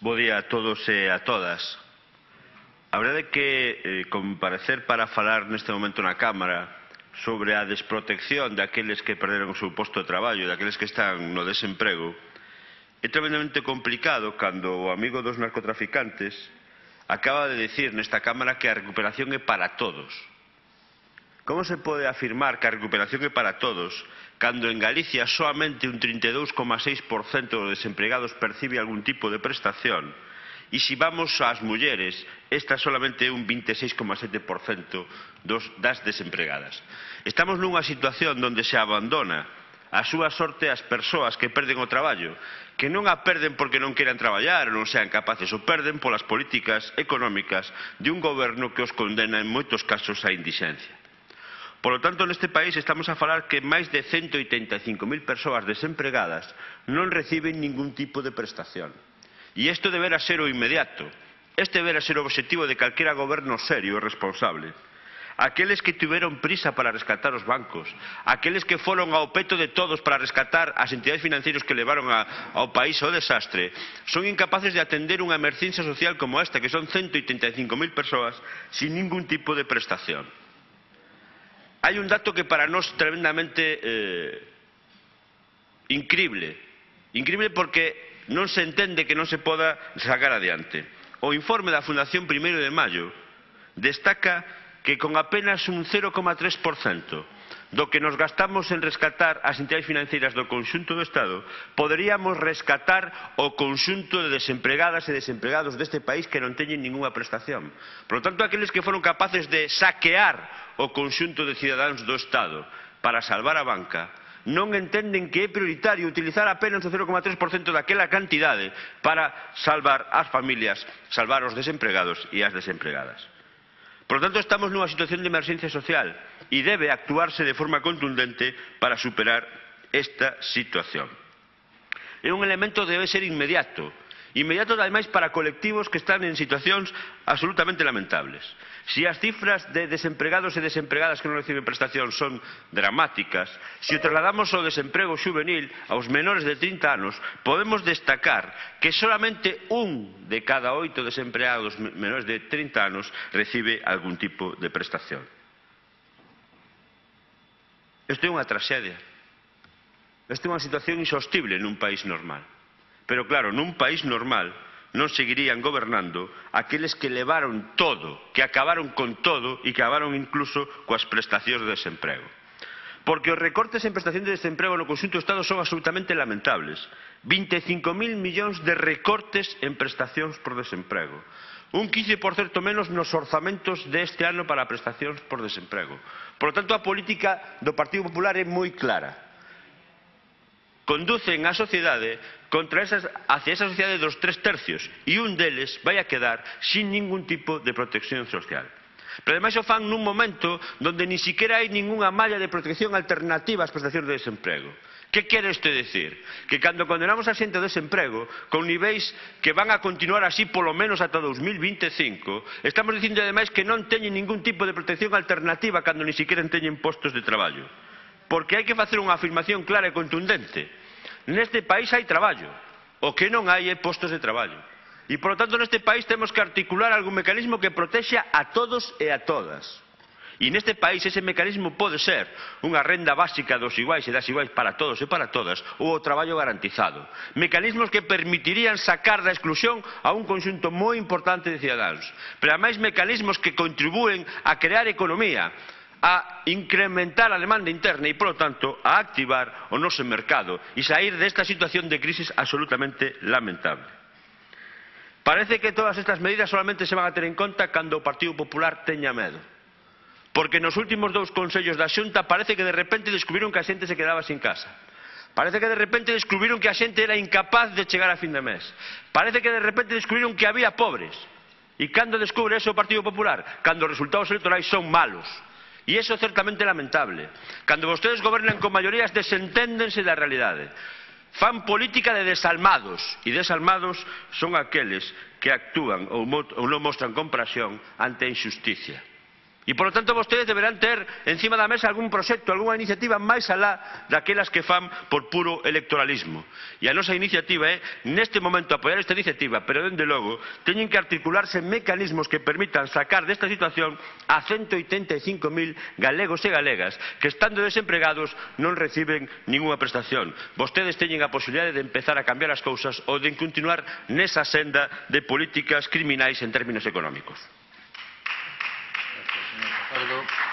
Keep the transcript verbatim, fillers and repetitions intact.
Bo día a todos e a todas. A verdade é que eh, comparecer para falar neste momento na Cámara sobre a desprotección daqueles que perderon o seu posto de traballo, daqueles que están no desemprego, é tremendamente complicado cando o amigo dos narcotraficantes acaba de dicir nesta Cámara que a recuperación é para todos. Como se pode afirmar que a recuperación é para todos cando en Galicia soamente un trinta e dous coma seis por cento dos desempregados percibe algún tipo de prestación e se vamos ás mulleres, esta solamente é un vinte e seis coma sete por cento dos, das desempregadas. Estamos nunha situación onde se abandona a súa sorte as persoas que perden o traballo, que non a perden porque non queran traballar ou non sean capaces, o perden polas políticas económicas de un goberno que os condena en moitos casos á indixencia. Por lo tanto, neste país estamos a falar que máis de ciento oitenta e cinco mil persoas desempregadas non reciben ningún tipo de prestación. E isto debera ser o inmediato. Este debera ser o objetivo de calquera goberno serio e responsable. Aqueles que tiveron prisa para rescatar os bancos, aqueles que foron ao peto de todos para rescatar as entidades financeiras que levaron a, ao país ao desastre, son incapaces de atender unha emergencia social como esta, que son ciento oitenta e cinco mil persoas sin ningún tipo de prestación. Hai un dato que para nós tremendamente eh, incrible. Incrible porque non se entende que non se poda sacar adiante. O informe da Fundación Primeiro de Maio destaca que con apenas un cero coma tres por cento do que nos gastamos en rescatar as entidades financeiras do conxunto do Estado, poderíamos rescatar o conxunto de desempregadas e desempregados deste país que non teñen ningunha prestación. Por lo tanto, aqueles que foron capaces de saquear o conxunto de cidadáns do Estado para salvar a banca, non entenden que é prioritario utilizar apenas o cero coma tres por cento daquela cantidade para salvar as familias, salvar os desempregados e as desempregadas. Por lo tanto, estamos nunha situación de emerxencia social e debe actuarse de forma contundente para superar esta situación. É un elemento que debe ser inmediato. Inmediato, ademais, para colectivos que están en situacións absolutamente lamentables. Se as cifras de desempregados e desempregadas que non reciben prestación son dramáticas, se o trasladamos ao desemprego xuvenil aos menores de trinta anos, podemos destacar que solamente un de cada oito desempregados menores de trinta anos recibe algún tipo de prestación. Isto é unha traxedia. Isto é unha situación insostible nun país normal. Pero claro, nun país normal non seguirían gobernando aqueles que levaron todo, que acabaron con todo e que acabaron incluso coas prestacións de desemprego. Porque os recortes en prestación de desemprego no conxunto do Estado son absolutamente lamentables. vinte e cinco mil millóns de recortes en prestacións por desemprego. Un quince por cento menos nos orzamentos deste ano para prestacións por desemprego. Por lo tanto, a política do Partido Popular é moi clara. Conducen a sociedade contra esas, hacia esa sociedade dos tres tercios e un deles vai a quedar sin ningún tipo de protección social. Pero ademais o fan nun momento onde ni siquiera hai ningunha malla de protección alternativa ás prestacións de desemprego. Que quere isto decir? Que cando condenamos a xente ao desemprego con niveis que van a continuar así polo menos ata dos mil vinte e cinco, estamos dicindo ademais que non teñen ningún tipo de protección alternativa cando ni siquiera teñen postos de traballo. Porque hai que facer unha afirmación clara e contundente. Neste país hai traballo, o que non hai é postos de traballo. E, por lo tanto, neste país temos que articular algún mecanismo que protexa a todos e a todas. E neste país ese mecanismo pode ser unha renda básica dos iguais e das iguais para todos e para todas ou o traballo garantizado. Mecanismos que permitirían sacar da exclusión a un conxunto moi importante de cidadáns. Pero, ademais, mecanismos que contribúen a crear economía, a incrementar a demanda interna e, por lo tanto, a activar o noso mercado e sair desta situación de crisis absolutamente lamentable. Parece que todas estas medidas solamente se van a ter en conta cando o Partido Popular teña medo. Porque nos últimos dous consellos da Xunta parece que de repente descubriron que a xente se quedaba sin casa. Parece que de repente descubriron que a xente era incapaz de chegar a fin de mes. Parece que de repente descubriron que había pobres. E cando descubre eso o Partido Popular? Cando os resultados electorais son malos. E iso é certamente lamentable. Cando vostedes gobernan con maiorías desenténdense da realidade. Fan política de desalmados. E desalmados son aqueles que actúan ou non mostran compasión ante a injusticia. E, polo tanto, vostedes deberán ter encima da mesa algún proxecto, algunha iniciativa máis alá daquelas que fan por puro electoralismo. E a nosa iniciativa é, neste momento, apoiar esta iniciativa, pero, dende logo, teñen que articularse mecanismos que permitan sacar desta situación a ciento oitenta e cinco mil galegos e galegas que, estando desempregados, non reciben ningunha prestación. Vostedes teñen a posibilidade de empezar a cambiar as cousas ou de continuar nesa senda de políticas criminais en términos económicos. Acuerdo.